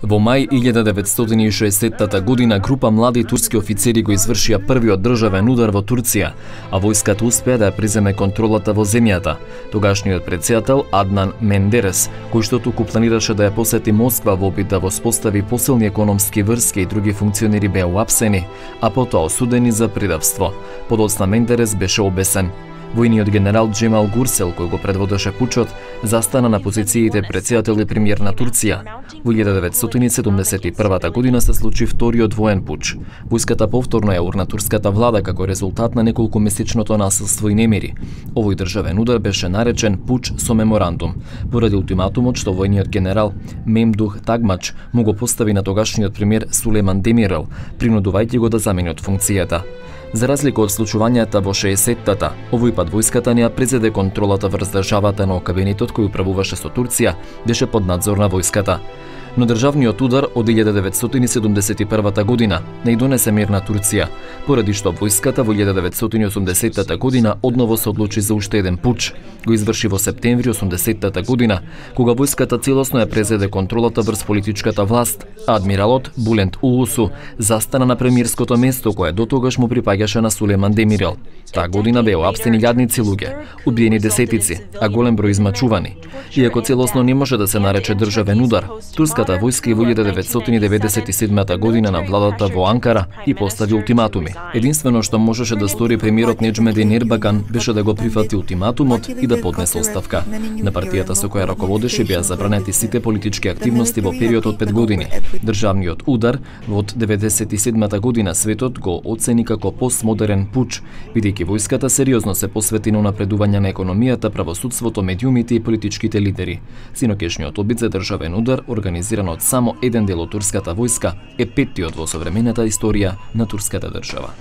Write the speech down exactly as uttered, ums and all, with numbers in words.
Во мај илјада деветстотини и шеесеттата година група млади турски офицери го извршија првиот државен удар во Турција, а војската успеа да ја преземе контролата во земјата. Тогашниот претседател Аднан Мендерес, кој што туку планираше да ја посети Москва во обид да воспостави посилни економски врски и други функционери беа уапсени, а потоа осудени за предавство. Подоцна Мендерес беше обесен. Војниот генерал Джемал Гурсел, кој го предводеше пучот, застана на позициите претседател и премиер на Турција. Во илјада деветстотини седумдесет и првата година се случи вториот воен пуч. Војската повторно ја урна турската влада како резултат на неколкумесечното насилство и немири. Овој државен удар беше наречен пуч со меморандум, поради ултиматумот што војниот генерал Мемдух Тагмач му го постави на тогашниот премиер Сулейман Демирел, принудувајќи го да замени од функцијата. За разлика од случувањата во шеесеттата, овој пат војската не ја презеде контролата врз државата, но кабинетот кој управуваше со Турција беше под надзор на војската. Но државниот удар од илјада деветстотини седумдесет и првата година не донесе мир на Турција, поради што војската во илјада деветстотини осумдесеттата година одново се одлучи за уште еден пуч. Го изврши во септември осумдесеттата година, кога војската целосно ја презеде контролата врз политичката власт, а адмиралот Булент Улусу застана на премиерското место кое дотогаш му припаѓаше на Сулейман Демирел. Таа година беа уапсени илјадници луѓе, убиени десетици, а голем број измачувани. Иако целосно не може да се нарече државен удар, турската војска и во илјада деветстотини деветдесет и седмата година на владата во Анкара и постави ултиматуми. Единствено што можеше да стори премиерот Неџмедин Ербаган беше да го прифати ултиматумот и да поднесе оставка. На партијата со која раководеше беа забранети сите политички активности во период од пет години. Државниот удар во деветдесет и седмата година светот го оцени како постмодерен пуч, бидејќи војската сериозно се посвети на унапредување на економијата, правосудството, медиумите и политичките лидери. Синокешниот обид за државен удар, организиран од само еден дел од турската војска, е петтиот во современата историја на турската држава.